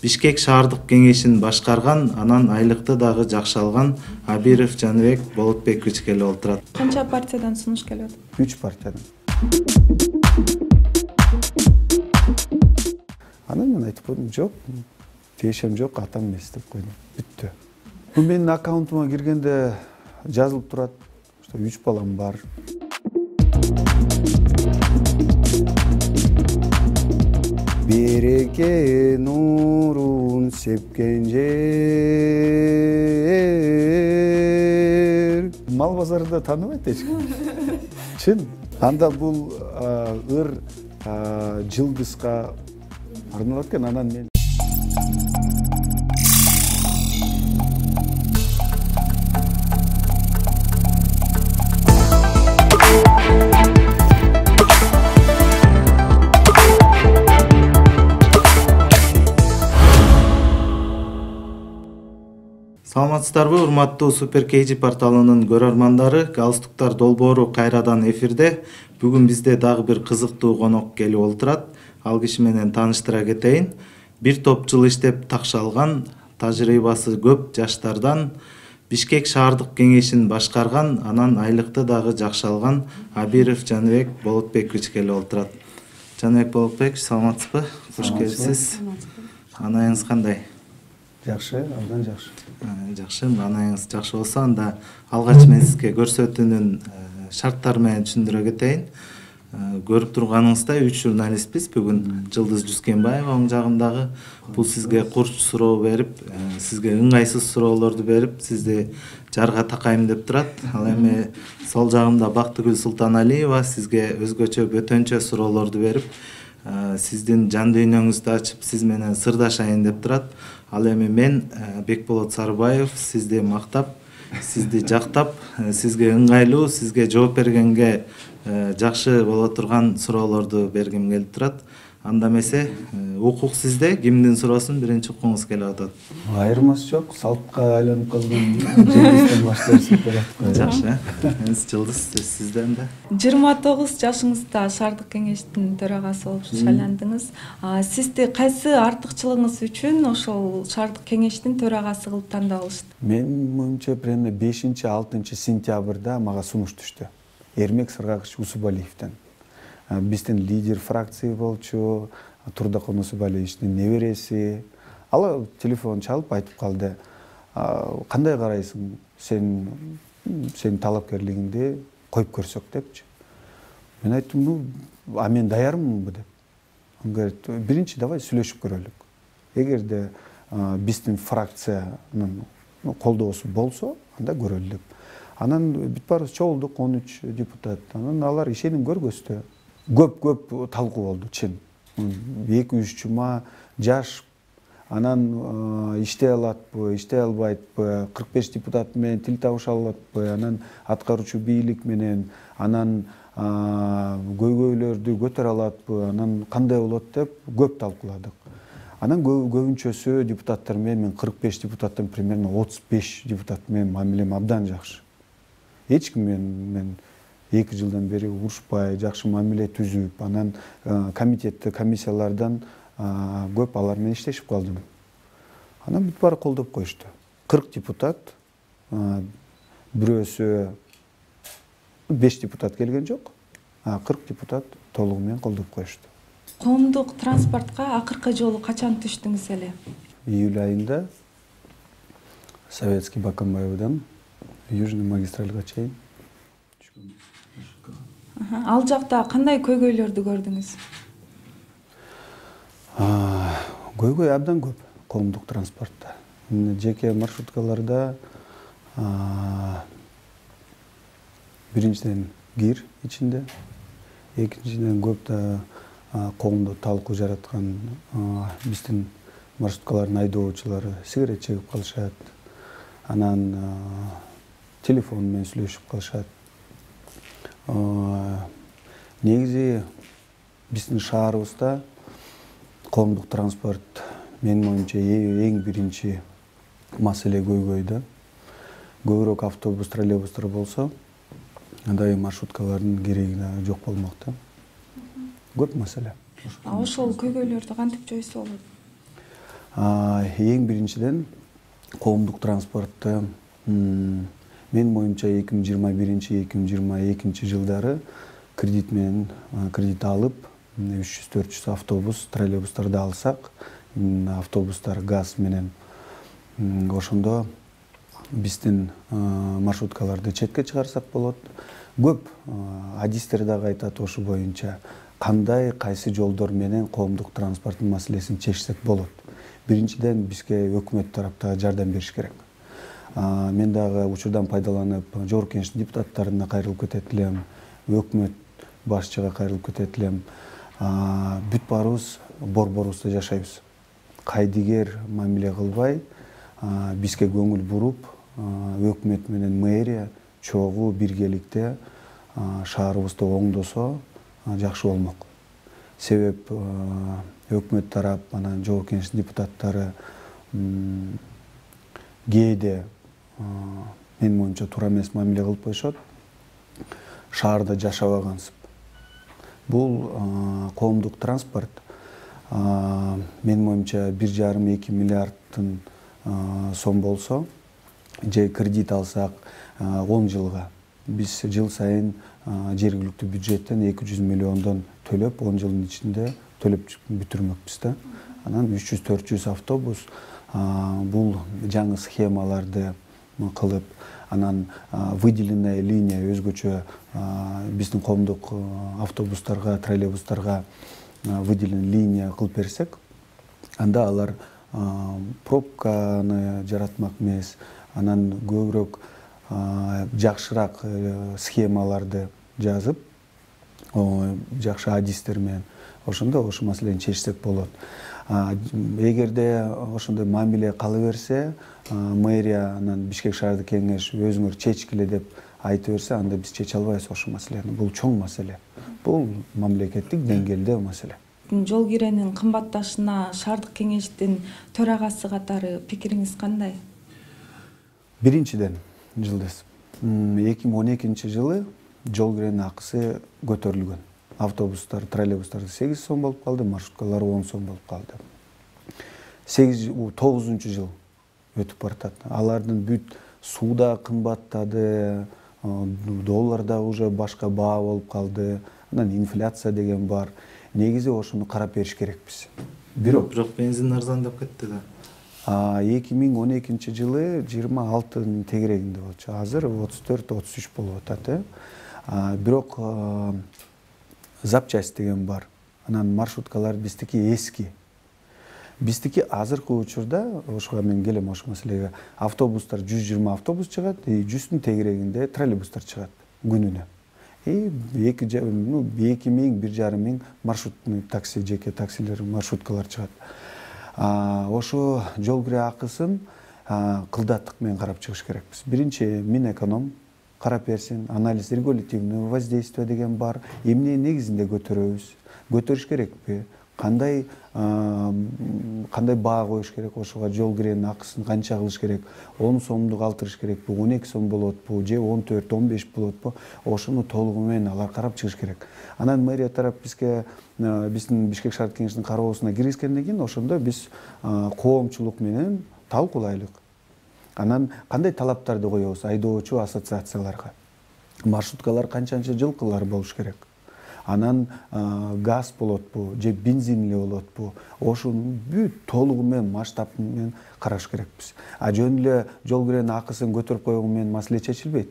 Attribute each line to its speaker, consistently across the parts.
Speaker 1: Бишкек шаардык кеңешин башкарган, анан айлыкты дагы жакшы алган Абиров Жаныбек Болотбекович келип отурат.
Speaker 2: Канча партиядан сунуш келип атат?
Speaker 3: 3 партиядан. Анан мен айтып койдум, жок, тиешем жок, атам эмес деп койдум. Бүттү. Бул менин аккаунтума киргенде жазылып турат, что 3 балам бар. Береке нурун сепкен жер. Мал базарында тааныбайт эч ким. Чын. Анда бул ыр жылдызга арналат экен, анан мен
Speaker 1: Саламатсыздарбы, урматтуу Супер KG порталынын көрөрмандары, галстуктар долбоору кайрадан эфирде. Бүгүн бизде дагы бир кызыктуу конок келип отурат. Ал киши менен тааныштыра кетейин. Бир топ жыл иштеп такшалган, тажрыйбасы көп жаштардан Бишкек шаардык кеңешин башкарган, анан айлыкты дагы жакшы алган Абиров Жаныбек Болотбекович келип отурат. Жаныбек Болотбекович, саламатсызбы? Кош келипсиз. Анайыңыз кандай?
Speaker 3: жакшы, абдан жакшы.
Speaker 1: Жакшы, анайыңыз жакшы болсо, анда алгач мен сизге көрсөтүүнүн шарттары менен түшүндүрө кетейин. Көрүп турганыңыздай 3 журналистпиз. Бүгүн Жылдыз Жускенбаева оң жагымдагы. Бул сизге курч суроо берип, сизге ыңгайсыз суроолорду берип, сизди жарга такайм деп турат. Ал эми сол жагымда Бактыгүл Султаналиева сизге өзгөчө бөтөнчө суроолорду берип, сиздин жан дүйнөңүздү ачып, сиз менен сырдашайын деп турат. Ал эми мен Бекболот Сарыбаев сизди мактап, сизди жактап, сизге ыңгайлуу, сизге жооп бергенге жакшы боло турган суроолорду бергим келип турат. Анда эмесе, укук сизде, кимдин суроосун биринчи уккуңуз келип атат?
Speaker 3: Айырмасы жок, салтка айланып калган Жылдыздын башташып келат.
Speaker 1: Жакшы. Жылдыз сизден да.
Speaker 2: 29 жашыңызда шаардык кеңештин төрагасы болуп шайландыңыз. Сизди кайсы артыкчылыгыңыз үчүн ошол шаардык кеңештин төрагасы кылып тандап алышты?
Speaker 3: Менин оюмча примерно 5-6 сентябрда мага сунуш түштү. Эрмек Сыргакыч Усубалиевден. Биздин лидер фракция болчу, Турдакон Усубалиевичтин небереси. Ал телефон чалып айтып калды: "Кандай карайсың? Сен талапкерлигиңди коюп көрсөк" депчи. Мен айттым: "Ну, мен даярмынбы" деп. Он говорит: "Биринчи давай сүйлөшүп көрөлүк. Эгерде биздин фракциянын колдоосу болсо, анда көрөлү" деп. Анан бүт баарыбыз чогулдук, 13 депутат. Анан алар ишеним көргөздү. Көп талкуу болду, чын. 2-3 жума жаш, анан иштей алатпы, иштей албайтпы, 45 депутат менен тил табыша алатпы, анан аткаруучу бийлик менен, анан көйгөйлөрдү көтөрө алатпы, анан кандай болот деп көп талкууладык. Анан көбүнчөсү депутаттар менен, мен 45 депутаттан примерно 35 депутат менен мамилем абдан жакшы. Эч ким мен 2 жылдан бери урушпай, жакшы мамиле түзүп, анан комитетте, комиссиялардан көп алар менен иштешип калдым. Анан бүт баары колдоп коюшту. 40 депутат, бирөөсү 5 депутат келген жок, 40 депутат толугу менен колдоп коюшту.
Speaker 2: Коомдук транспортко акыркы жолу качан түштүңүз эле?
Speaker 3: Июль айында Советский Баканбаевдан Южный магистральга чейин.
Speaker 2: Ал жакта кандай көйгөйлөрдү көрдүңүз?
Speaker 3: Көйгөй абдан көп коомдук транспортто. Жеке маршруткаларда биринчиден кир ичинде, экинчиден көп да коомдо талкуу жараткан биздин маршруткалардын айдоочулары сигарет чегип калышат. Анан телефон менен сүйлөшүп калышат. Негизи биздин шаарыбызда коомдук транспорт менин оюмча эң биринчи маселе көйгөйдө. Көбүрөөк автобус, троллейбустар болсо, андай маршруткалардын кереги жок болмок да. Көп маселе.
Speaker 2: Ошол көйгөйлөрдү кантип жойсо болот?
Speaker 3: Эң биринчиден коомдук транспортты менин оюмча 2021-2022 жылдары кредит менен кредит алып 300-400 автобус, троллейбустарды алсак, автобустар газ менен, ошондо биздин маршруткаларды четке чыгарсак болот. Көп адистер дагы айтат ошо боюнча кандай кайсы жолдор менен коомдук транспорттун маселесин чечсек болот. Биринчиден бизге өкмөт тараптагы жардам бериш керек. Мен дагы учурдан пайдаланып жогорку кеңештин депутаттарына кайрылып кетет элем, өкмөт башчыга кайрылып кетет элем. Бүт баарыбыз борборубузда жашайбыз. Кайдыгер мамиле кылбай, бизге көңүл буруп, өкмөт менен мэрия чогуу биргеликте шаарыбызды оңдосо жакшы болмок. Себеп өкмөт тарап, анан жогорку кеңештин депутаттары кээде менин оюмча туура эмес мамиле кылып коюшат. Шаарда жашабагансып. Бул коомдук транспорт менин оюмча 1,5-2 миллиардтын сом болсо, же кредит алсак 10 жылга биз жыл сайын жергиликтүү бюджеттен 200 миллиондон төлөп, 10 жылдын ичинде төлөп бүтүрмөкпүз да. Анан 300-400 автобус бул жаңы схемаларды кылып, анан выделенная линия өзгөчө биздин коомдук автобустарга, троллейбустарга выделен линия кылып берсек, анда алар пробканы жаратмак эмес, анан көбүрөөк жакшыраак схемаларды жазып, жакшы адистер менен ошондо ошол маселени чечсек болот. Эгерде ошондой мамиле кала берсе, мэрия анан Бишкек шаардык кеңеш өзүңөр чечкиле деп айта берсе, анда биз чече албайбыз ошол маселени. Бул чоң маселе. Бул мамлекеттик деңгээлде маселе.
Speaker 2: Жол киренин кымбатташына шаардык кеңештин төрагасы катары пикириңиз кандай?
Speaker 3: Биринчиден, Жылдыз, 2012 жылы жол киренин акысы көтөрүлгөн. Автобустар, троллейбустар 8 сом болуп калды, маршруткалар 10 сом болуп калды. 9 жыл өтүп баратат. Алардын бүт сууда кымбаттады, доллар да уже башка баа болуп калды, анан инфляция деген бар. Негизи ошону карап бериш керекпиз.
Speaker 1: Бирок бензин арзандап кетти да.
Speaker 3: 2012 жылы 26 тегерегинде болчу. Азыр 34-33 болуп атат. Бирок запчасть деген бар. Анан маршруткалар биздики эски. Биздики азыркы учурда, ошого мен келем ошол маселеге, автобустар 120 автобус чыгат, 100тун тегерегинде троллейбустар чыгат күнүнө. 2000-1,5 маршруттуу такси, жеке таксилер, маршруткалар чыгат. Ошо жол кире акысын кылдаттык менен карап чыгыш керекпиз. Биринчи Минэконом карап берсин, анализ регулятивный воздействие деген бар. Эмне негизинде көтөрөбүз? Көтөрүш керекпи? Кандай баа коюш керек, ошого жол киренин акысын канча кылыш керек? 10 сомду калтырыш керекпи? 12 сом болотпу? Же 14-15 болотпу? Ошону толугу менен алар карап чыгыш керек. Анан мэрия тарап бизге биздин Бишкек шаардык кеңешинин кароосуна киргизгенден кийин ошондо биз коомчулук менен талкуулайлык. Анан кандай талаптарды коебуз айдоочу ассоциацияларга? Маршруткалар канчанча жылкылар болуш керек? Анан газ болотпу, же бензинли болотпу? Ошону бүт толугу менен масштаб менен караш керекпиз. Жөн эле жол киренин акысын көтөрүп койгон менен маселе чечилбейт.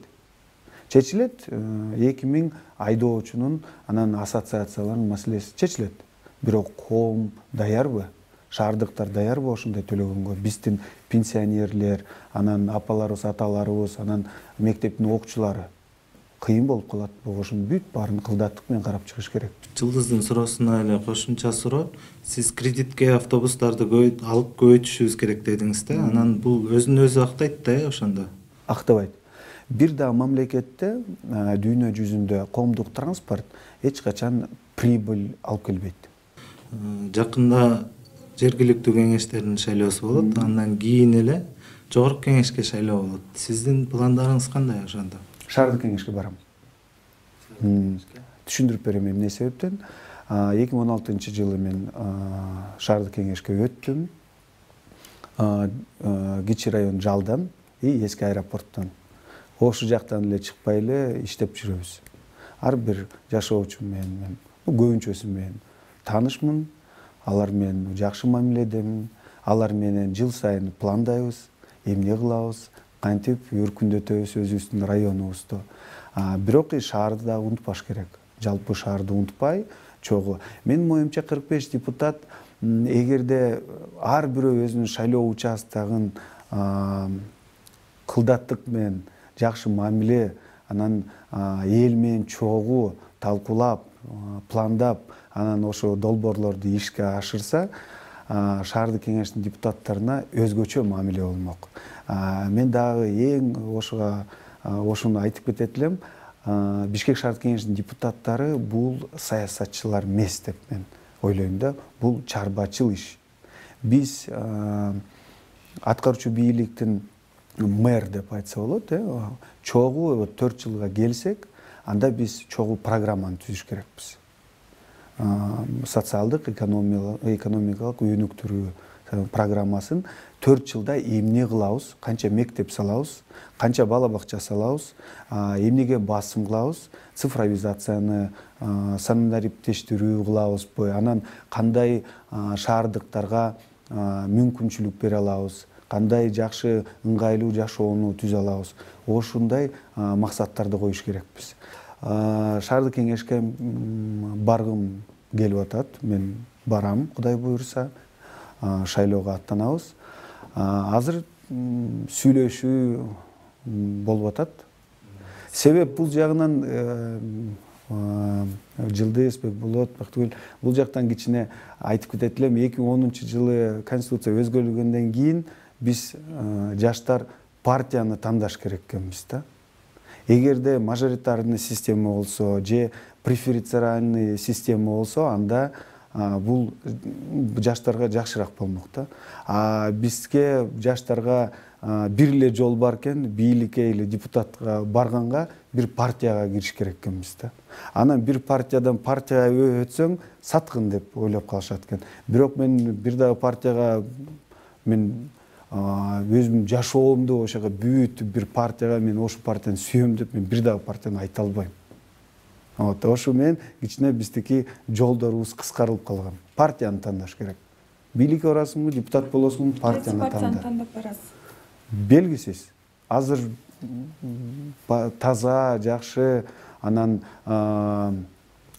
Speaker 3: Чечилет 2000 айдоочунун, анан ассоциациялардын маселеси чечилет. Бирок коом даярбы? Шаардыктар даярбы ошондой төлөгөнгө? Биздин пенсионерлер, анан апаларыбыз, аталарыбыз, анан мектептин окуучулары кыйын болуп калат. Ошонун бүт баарын кылдаттык менен карап чыгыш керек.
Speaker 1: Жылдыздын суроосуна эле кошумча суроо. Сиз кредитке автобустарды алып көбөйтүшүбүз керек дедиңиз да. Анан бул өзүн өзү актайт да, ошондо.
Speaker 3: Актабайт. Бир да мамлекетте дүйнө жүзүндө коомдук транспорт эч качан прибыль алып келбейт.
Speaker 1: Жакында жергиликтүү кеңештердин шайлоосу болот, андан кийин эле жогорку кеңешке шайлоо болот. Сиздин пландарыңыз кандай ошондо?
Speaker 3: Шаардык кеңешке барам. Түшүндүрүп берем эмне себептен. 2016 жылы мен шаардык кеңешке өттүм. кичи район Жалдан эски аэропорттон. Ошол жактан эле чыкпай эле иштеп жүрөбүз. Ар бир жашоочу менен мен көбүнчөсү менен таанышмын. Алар менен жакшы мамиледемин. Алар менен жыл сайын пландайбыз, эмне кылабыз, кантип өркүндөтөбүз өзүбүздүн районубузду. Бирок шаарды да унутпаш керек. Жалпы шаарды унутпай, чогуу. Менин оюмча 45 депутат эгерде ар бирөө өзүнүн шайлоо участогун кылдаттык менен жакшы мамиле, анан эл менен чогуу талкуулап, пландап, анан ошо долбоорлорду ишке ашырса, шаардык кеңештин депутаттарына өзгөчө мамиле болмок. Мен дагы эң ошону айтып кетет элем. Бишкек шаардык кеңешинин депутаттары бул саясатчылар эмес деп мен ойлойм да. Бул чарбачыл иш. Биз аткаруучу бийликтин мэр деп айтса болот, чогуу 4 жылга келсек, анда биз чогуу программаны түзүш керекпиз. Социалдык, экономикалык өнүктүрүү программасын 4 жылда эмне кылабыз, канча мектеп салабыз, канча бала бакча салабыз, эмнеге басым кылабыз, цифровизацияны санариптештирүү кылабызбы, анан кандай шаардыктарга мүмкүнчүлүк бере алабыз, кандай жакшы ыңгайлуу жашоону түзө алабыз. Ошондой максаттарды коюш керекпиз. Шаардык кеңешке баргым келип атат. Мен барам, Кудай буйруса, шайлоого аттанабыз. Азыр сүйлөшүү болуп атат. Себеп бул жагынан Жылдыз Бекболот, Бактыгүл бул жактан кичине айтып кетет элем. 2010-жылы конституция өзгөрүлгөндөн кийин биз жаштар партияны тандаш керек экенбиз да. Эгерде мажоритарный система болсо же преференциальный система болсо, анда бул жаштарга жакшыраак болмок да. Бизге жаштарга бир эле жол бар экен, бийликке или депутатка барганга бир партияга кириш керек экенбиз да. Анан бир партиядан партияга өтсөң саткын деп ойлоп калышат экен. Бирок мен бир дагы партияга мен өзүм жашоомду ошого бүт бир партияга мен ошол партияны сүйөм деп мен бир дагы партияны айта албайм. Ошо менен кичине биздики жолдорубуз кыскарылып калган. Партияны тандаш керек. Бийликке барасыңбы, депутат болосуңбу, партияны
Speaker 2: тандап барасыз.
Speaker 3: Белгисиз. Азыр таза, жакшы, анан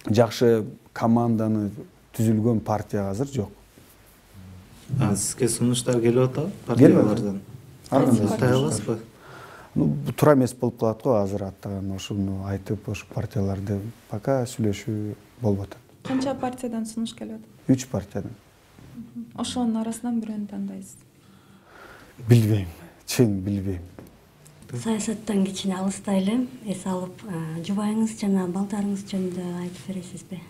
Speaker 3: жакшы команданы түзүлгөн партия азыр жок.
Speaker 1: Сизге сунуштар келип атабы партиялардан? Аттай аласызбы?
Speaker 3: Туура эмес болуп калат го азыр аттаган, ошону айтып, ошо партияларды пока сүйлөшүү болуп атат.
Speaker 2: Канча партиядан сунуш келип атат?
Speaker 3: 3 партиядан.
Speaker 2: Ошонун арасынан бирөөнү тандайсыз?
Speaker 3: Билбейм, чын билбейм.
Speaker 4: Саясаттан кичине алыстай элем, эс алып, жубайыңыз жана балдарыңыз жөнүндө айтып бересизби?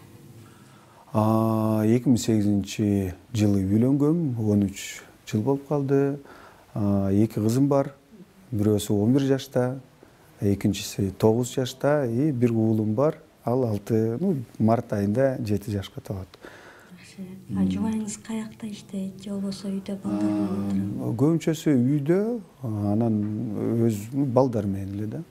Speaker 3: 2008-жылы үйлөнгөм, 13 жыл болуп калды. 2 кызым бар. Бирөөсү 11 жашта, экинчиси 9 жашта, бир уулум бар. Ал 6 март айында 7 жашка толот.
Speaker 4: Жубайыңыз каякта иштейт, же болбосо үйдө балдар менен отурат?
Speaker 3: Көбүнчөсү үйдө, анан өз балдар менен эле да.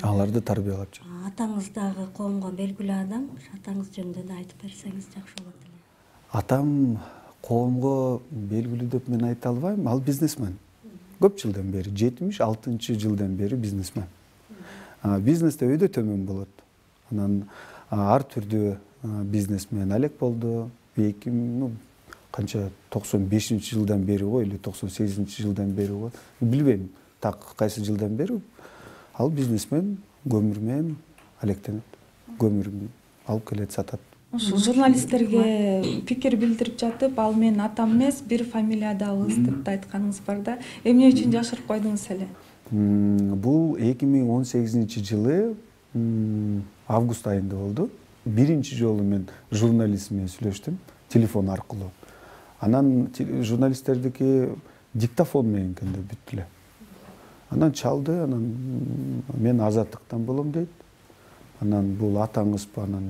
Speaker 3: Аларды тарбиялап жүрөт.
Speaker 4: Атаңыз дагы коомго белгилүү адам, атаңыз жөнүндө да айтып берсеңиз жакшы болот эле.
Speaker 3: Атам коомго белгилүү деп мен айта албайм, ал бизнесмен. Көп жылдан бери, 76-жылдан бери бизнесмен. Бизнесте өйдө төмөн болот. Анан ар түрдүү бизнесмен алек болду. Канча 95-жылдан бери го или 98-жылдан бери го, билбейм. Так кайсы жылдан бери ал бизнесмен көмүр менен алектенет. Көмүрүн алып келет, сатат.
Speaker 2: Ошо журналисттерге пикир билдирип жатып, ал менин атам эмес, бир фамилиядабыз деп айтканыңыз бар да. Эмне үчүн жашырып койдуңуз эле?
Speaker 3: Бул 2018-жылы август айында болду. Биринчи жолу мен журналист менен сүйлөштүм телефон аркылуу. Анан журналисттердики диктофон менен экен деп бүттү эле. Анан чалды, анан мен азаттыктан болом дейт. Анан бул атаңызбы, анан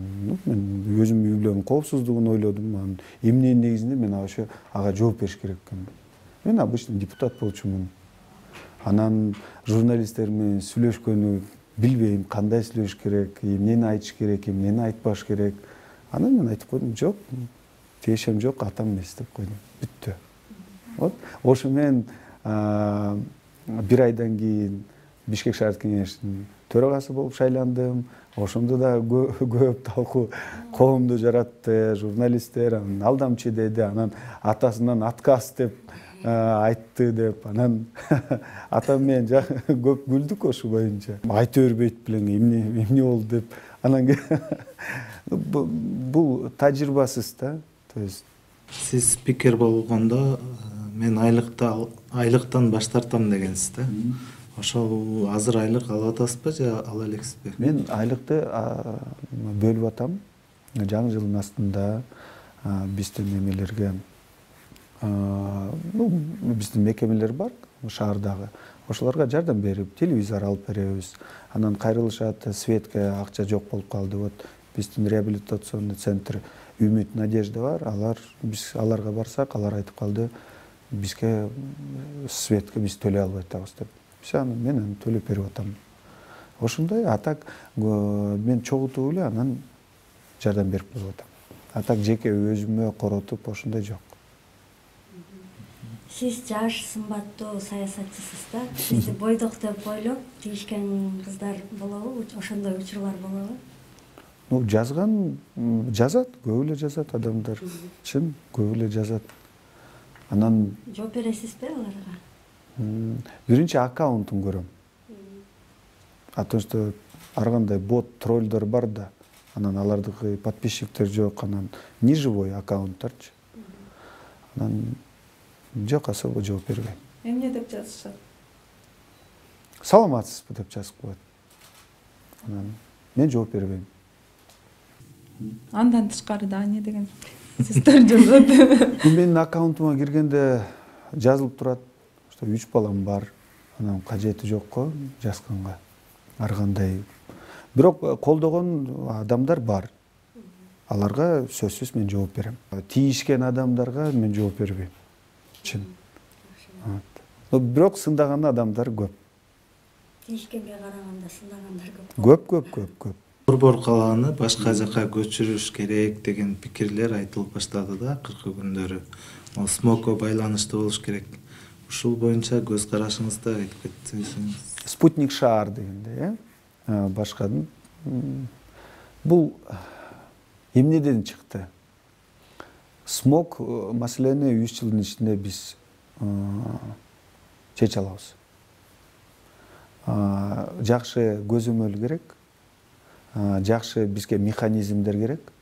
Speaker 3: мен өзүм үй бүлөмдүн коопсуздугун ойлодум. Анан эмненин негизинде мен ошо ага жооп бериш керек экенмин. Мен обычный депутат болчумун. Анан журналисттер менен сүйлөшкөнү билбейм, кандай сүйлөш керек, эмнени айтыш керек, эмнени айтпаш керек. Анан мен айтып койдум, жок, тиешем жок, атам эмес деп койдум. Бүттү. Вот ошо менен бир айдан кийин Бишкек шаардык кеңештин төрагасы болуп шайландым. Ошондо да көп талкуу коомду жаратты, журналисттер анан алдамчы деди, анан атасынан отказ деп айтты деп, анан атам менен көп күлдүк ошо боюнча. Айта бербейт белең, эмне болду деп. Анан бул тажрыйбасыз да. То есть
Speaker 1: сиз спикер болгондо мен айлыктан баш тартам дегенсиз да. Ошол азыр айлык алып атасызбы же ала элексизби?
Speaker 3: Мен айлыкты бөлүп атам. Жаңы жылдын астында биздин эмелерге биздин мекемелер бар шаардагы. Ошолорго жардам берип, телевизор алып беребиз. Анан кайрылышат, светке акча жок болуп калды. Вот биздин реабилитационный центр Үмүт, Надежда бар. Биз аларга барсак, алар айтып калды, бизге светке биз төлөй албай атабыз деп. Мен төлөп берип атам. Ошондой, а так мен чогултуп эле анан жардам берип коюп атам. А так жеке өзүмө коротуп ошондой жок.
Speaker 4: Сиз жаш, сымбаттуу саясатчысыз да. Сизди бойдок деп ойлоп тийишкен кыздар болобу? Ошондой учурлар болобу?
Speaker 3: Жазат, көп эле жазат адамдар. Чын, көп эле жазат. Анан
Speaker 4: жооп бересизби аларга?
Speaker 3: Биринчи аккаунтун көрөм. Потому что ар кандай бот, троллдор бар да. Анан алардыкы подписчиктер жок, анан неживой аккаунттарчы. Анан жок, особо жооп бербейм.
Speaker 2: Эмне деп жазышат?
Speaker 3: Саламатсызбы деп жазып коет. Анан мен жооп бербейм.
Speaker 2: Андан тышкары да эмне деген сиздер жазат?
Speaker 3: Менин аккаунтума киргенде жазылып турат, что 3 балам бар. Анан кажети жокко жазганга. Ар кандай. Бирок колдогон адамдар бар. Аларга сөзсүз мен жооп берем. Тийишкен адамдарга мен жооп бербейм. Чын. Бирок сындаган адамдар көп.
Speaker 4: Тийишкенге караганда сындагандар
Speaker 3: Көп.
Speaker 1: Борбор калааны башка жака көчүрүш керек деген пикирлер айтылып баштады да акыркы күндөрү. СМОКко байланыштуу болуш керек. Ушул боюнча көз карашыңызды айтып кетсеңиз.
Speaker 3: Спутник шаар дегенде, башкадын бул эмнеден чыкты? СМОК маселени 3 жылдын ичинде биз чече алабыз. Жакшы көзөмөл керек. Жакшы бизге механизмдер керек.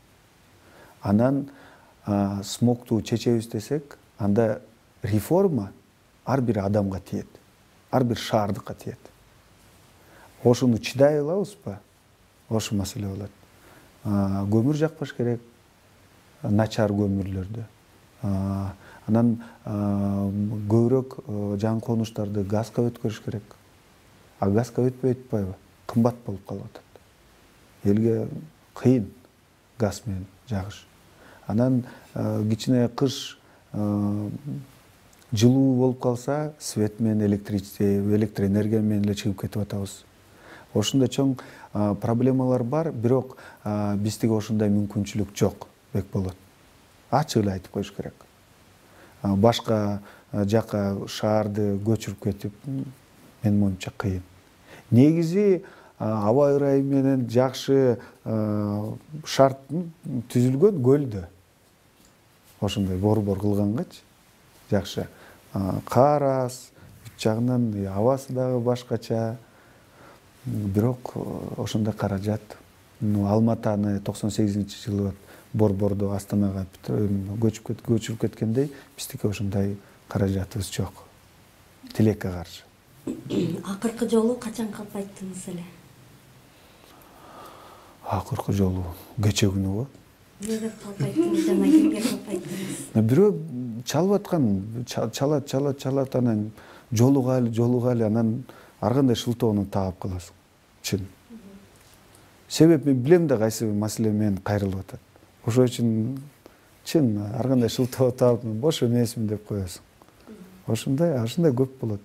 Speaker 3: Анан СМОКту чечебиз десек, анда реформа ар бир адамга тиет. Ар бир шаардыкка тиет. Ошону чыдай алабызбы? Ошо маселе болот. Көмүр жакпаш керек. Начар көмүрлөрдү. Анан көбүрөөк жаңы конуштарды газга өткөрүш керек. А газга өтпөй атпайбы? Кымбат болуп калып атат. Элге кыйын газ менен жагыш. Анан кичине кыш жылуу болуп калса, свет менен электроэнергия менен эле чыгып кетип атабыз. Ошондой чоң проблемалар бар, бирок биздиги ошондой мүмкүнчүлүк жок бек болот. Ачык эле айтып коюш керек. Башка жака шаарды көчүрүп кетип, менин оюмча кыйын. Негизи аба ырайы менен жакшы шарт түзүлгөн көлдө. Ошондой борбор кылгангачы жакшы. Кар аз, бүт жагынан абасы дагы башкача. Бирок ошондой каражат. Алматаны 98-жылы борборду Астанага көчүрүп кеткендей, биздики ошондой каражатыбыз жок. Тилекке каршы.
Speaker 4: Акыркы жолу качан калп айттыңыз эле?
Speaker 3: Акыркы жолу кече күнү го.
Speaker 4: Эмне деп калп айттыңыз жана кимге калп айттыңыз?
Speaker 3: Бирөө чалып аткан, чалат анан жолугалы, анан ар кандай шылтоону таап каласың. Чын. Себеп мен билем да кайсы маселе менен кайрылып атат. Ошол үчүн чын ар кандай шылтоо таап бош эмесмин деп коесуң. ушундай көп болот.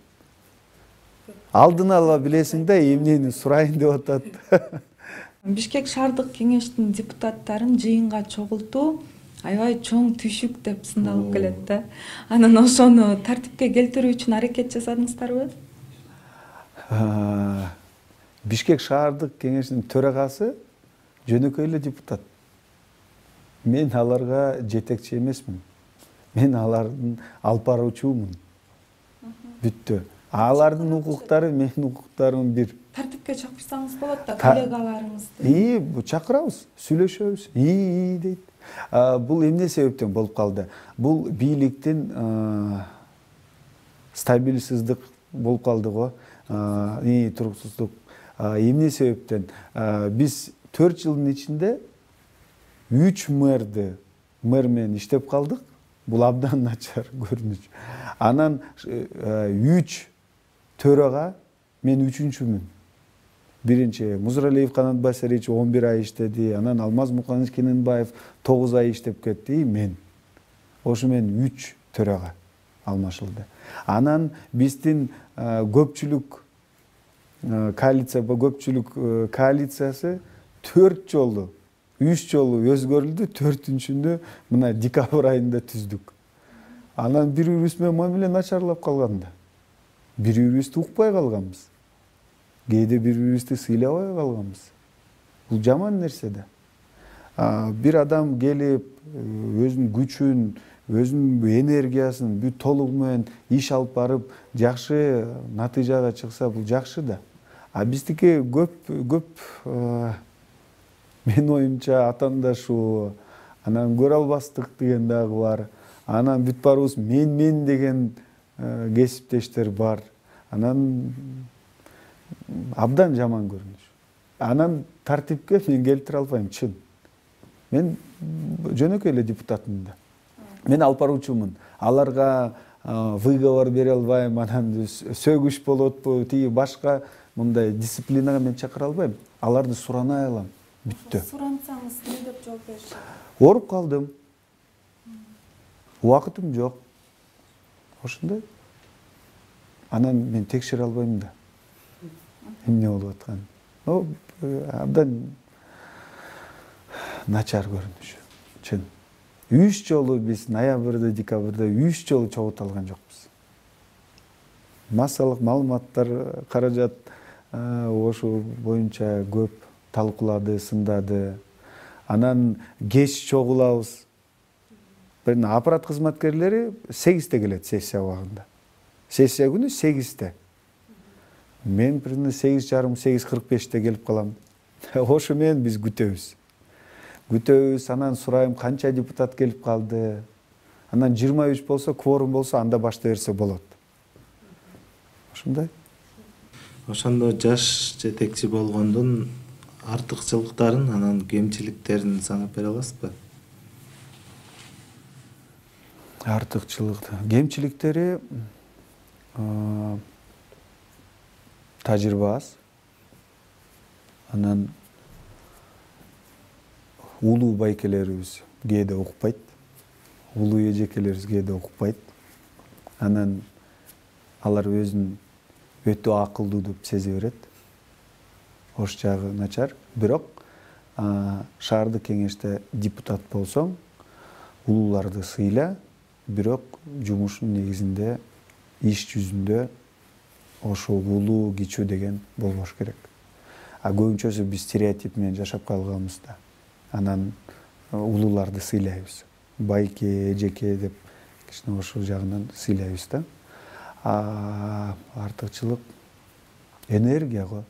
Speaker 3: Алдын ала билесиң да эмнени сурайын деп атат.
Speaker 2: Бишкек шаардык кеңештин депутаттарын жыйынга чогултуу аябай чоң түшүк деп сындалып келет да. Анан ошону тартипке келтирүү үчүн аракет жасадыңыздарбы?
Speaker 3: Бишкек шаардык кеңешинин төрагасы жөнөкөй эле депутат. Мен аларга жетекчи эмесмин. Мен алардын алып баруучумун. Бүттү. Алардын укуктары менин укуктарым бир.
Speaker 2: Тартипке чакырсаңыз болот да коллегаларыңызды.
Speaker 3: Чакырабыз, сүйлөшөбүз. Дейт. Бул эмне себептен болуп калды? Бул бийликтин стабилсиздик болуп калды го. Туруксуздук. Эмне себептен? Биз 4 жылдын ичинде 3 мэр менен иштеп калдык. Бул абдан начар көрүнүш. Анан 3 төрага мен 3-үчүмүн. Биринчи Музралиев Канат Басарич 11 ай иштеди, анан Алмаз Муканович Кененбаев 9 ай иштеп кетти, мен. Ошо мен 3 төрага алмашылды. Анан биздин көпчүлүк коалициясы 4 жолу 3 жолу өзгөрүлдү, 4-үнчүнү мына декабрь айында түздүк. Анан бири-бирибиз менен мамиле начарлап калганда. Бири-бирибизди укпай калганбыз. Кээде бири-бирибизди сыйлабай калганбыз. Бул жаман нерсе да. Бир адам келип, өзүнүн күчүн, өзүнүн энергиясын бүт толугу менен иш алып барып, жакшы натыйжага чыкса, бул жакшы да. Биздики көп менин оюмча атаандашуу, анан көрө албастык деген дагы бар. Анан бүт баарыбыз мен деген кесиптештер бар. Анан абдан жаман көрүнүш. Анан тартипке мен келтире албайм, чын. Мен жөнөкөй эле депутатмын да. Мен алып баруучумун. Аларга выговор бере албайм, анан сөгүш болотпу, тиги башка мындай дисциплинага мен чакыра албайм. Аларды суранай алам. Бүттү.
Speaker 2: Сурансаңыз не деп жооп беришет?
Speaker 3: Оруп калдым. Убакытым жок. Ошондой. Анан мен текшере албайм да. Эмне болуп атканын. Абдан начар көрүнүш. Чын. 3 жолу биз ноябрда, декабрда 3 жолу чогулту алган жокпуз. Массалык маалыматтар каражат ошо боюнча көп талкуулады, сындады. Анан кеч чогулабыз. Бир аппарат кызматкерлери 8-те келет сессия убагында. Сессия күнү 8-те. Мен примерно 8:30-8:45-те келип калам. Ошо менен биз күтөбүз. Анан сурайм канча депутат келип калды. Анан 23 болсо, кворум болсо, анда баштай берсе болот. Ошондой.
Speaker 1: Ошондо жаш жетекчи болгондун артыкчылыктарын, анан кемчиликтерин санап бере аласызбы?
Speaker 3: Кемчиликтери тажрыйба аз. Анан улуу байкелерибиз кээде укпайт. Улуу эжекелерибиз кээде укпайт. Анан алар өзүн өтө акылдуу деп сезе берет. Ош жагы начар. Бирок шаардык кеңеште депутат болсоң, улууларды сыйла, бирок жумуштун негизинде, иш жүзүндө ошо улуу кичүү деген болбош керек. Көбүнчөсү биз стереотип менен жашап калганбыз да. Анан улууларды сыйлайбыз. Байке, эжеке деп кичине ошол жагынан сыйлайбыз да. Артыкчылык энергия го.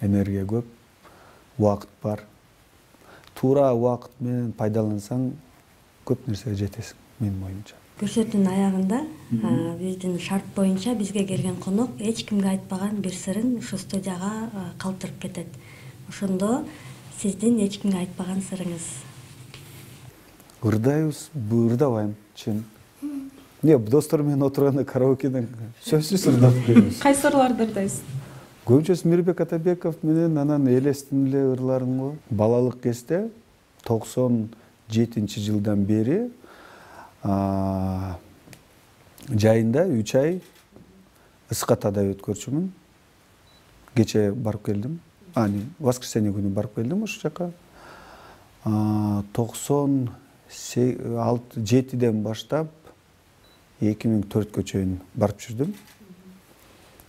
Speaker 3: Энергия көп, убакыт бар. Туура убакыт менен пайдалансаң, көп нерсеге жетесиң, менин оюмча.
Speaker 4: Көрсөтүүнүн аягында биздин шарт боюнча бизге келген конок эч кимге айтпаган бир сырын ушу студияга калтырып кетет. Ошондо сиздин эч кимге айтпаган сырыңыз?
Speaker 3: Ырдайбыз, ырдабайм, чын. Достор менен отурганда караокеден сөзсүз ырдап беребиз.
Speaker 2: Кайсы ырларды ырдайсыз?
Speaker 3: Көбүнчөсү Мирбек Атабеков менен анан элестин эле ырларым го. Балалык кезде 97-жылдан бери жайында 3 ай Ысыкатада өткөрчүмүн. Кече барып келдим. Воскресенье күнү барып келдим ошол жака. 97-ден баштап 2004 чейин барып жүрдүм.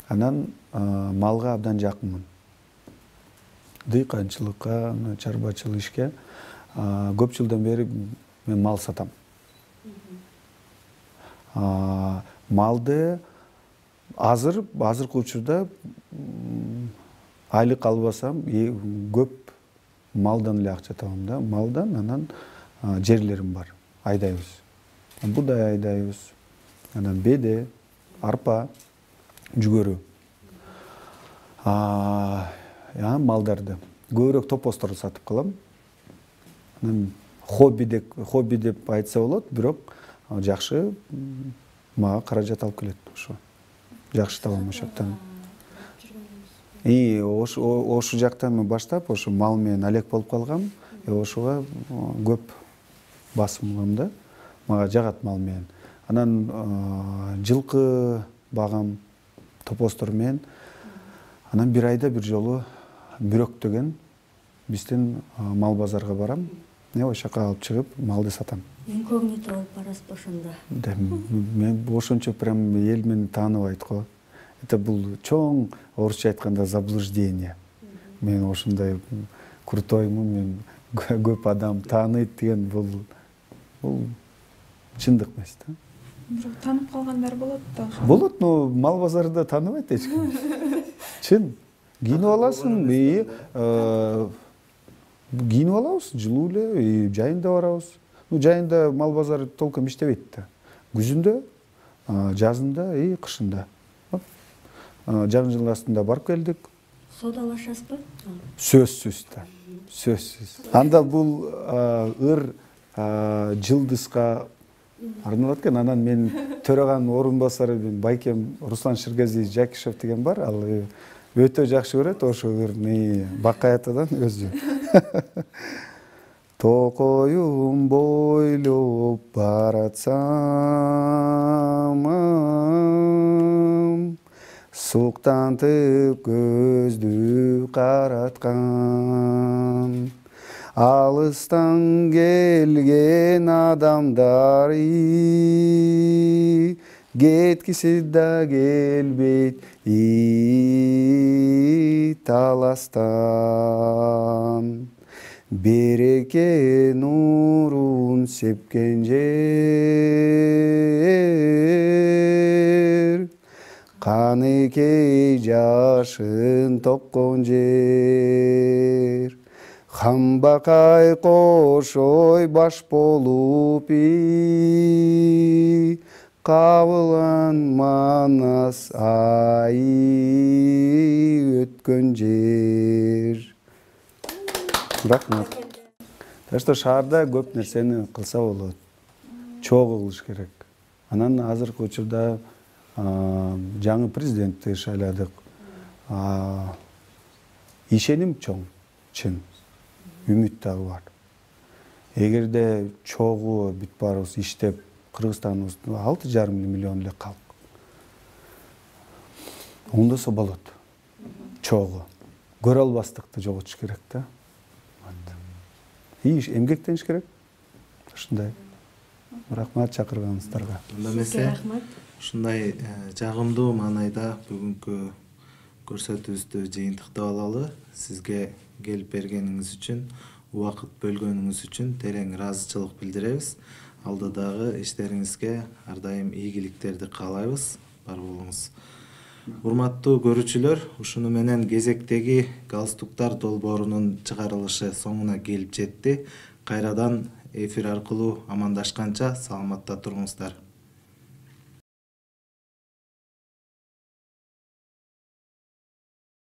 Speaker 3: Анан малга абдан жакынмын. Дыйканчылыкка, чарбачылык ишке көп жылдан бери мен мал сатам. Малды азыркы учурда айлык албасам көп малдан эле акча табам да. Малдан анан жерлерим бар. Айдайбыз. Будай айдайбыз. Анан беде, арпа, жүгөрү. Малдарды көбүрөөк топостор сатып калам. Анан хобби деп айтса болот, бирок жакшы мага каражат алып келет ошо. Жакшы табам ошол жактан. Ошол жактан баштап ошо мал менен алек болуп калгам. Ошого көп басым кылам да. Мага жагат мал менен. Анан жылкы багам топостор менен. Анан бир айда бир жолу бирок деген биздин мал базарга барам. Ошол жака алып чыгып малды сатам.
Speaker 4: Инкогнито болуп барасыз ошондо.
Speaker 3: Мен ошончо прям эл мени тааныбайт го. Это бул чоң орусча айтканда заблуждение. Мен ошондой крутоймун, мен көп адам тааныйт деген бул чындык эмес да.
Speaker 2: Бирок таанып калгандар болот да.
Speaker 3: Болот, но мал базарында тааныбайт эч ким. Чын. Кийинип аласың, кийинип алабыз, жылуу эле, жайында барабыз. Жайында мал базары толком иштебейт да. Күзүндө, жазында, кышында. Жагын жыл астында барып келдик.
Speaker 4: Соодалашасызбы?
Speaker 3: Сөзсүз да. Сөзсүз. Анда бул ыр жылдызга арналат экен. Анан мен төраганын орун басары байкем Руслан Ширгазиевич Жакишев деген бар. Ал өтө жакшы көрөт ошо ырны бакаятадан өзү. Токоюм бойлоп баратсам, суктантып көздү караткан, алыстан келген адамдар кеткиси да келбейт таластан. Береке нурун сепкен жер, каныкей жашын токкон жер. Хамбакай кошой баш болуп кабылган Манас айы өткөн жер. Рахмат. Так что шаарда көп нерсени кылса болот. Чогуу кылыш керек. Анан азыркы учурда жаңы президентти шайладык. Ишеним чоң, чын. Үмүт дагы бар. Эгерде чогуу бүт баарыбыз иштеп, Кыргызстаныбыз 6,5 миллион эле калк. Ондосо болот. Чогуу. Көрө албастыкты жоготуш керек да. Эмгектениш керек. Ушундай. Рахмат чакырганыңыздарга.
Speaker 4: Рахмат.
Speaker 1: Ушундай жагымдуу маанайда бүгүнкү көрсөтүүбүздү жыйынтыктап алалы. Сизге келип бергениңиз үчүн, убакыт бөлгөнүңүз үчүн терең ыраазычылык билдиребиз. Алдыдагы иштериңизге ар дайым ийгиликтерди каалайбыз. Бар болуңуз. Урматтуу көрүүчүлөр, ушуну менен кезектеги галстуктар долбоорунун чыгарылышы соңуна келип жетти. Кайрадан эфир аркылуу амандашканча саламатта туруңуздар.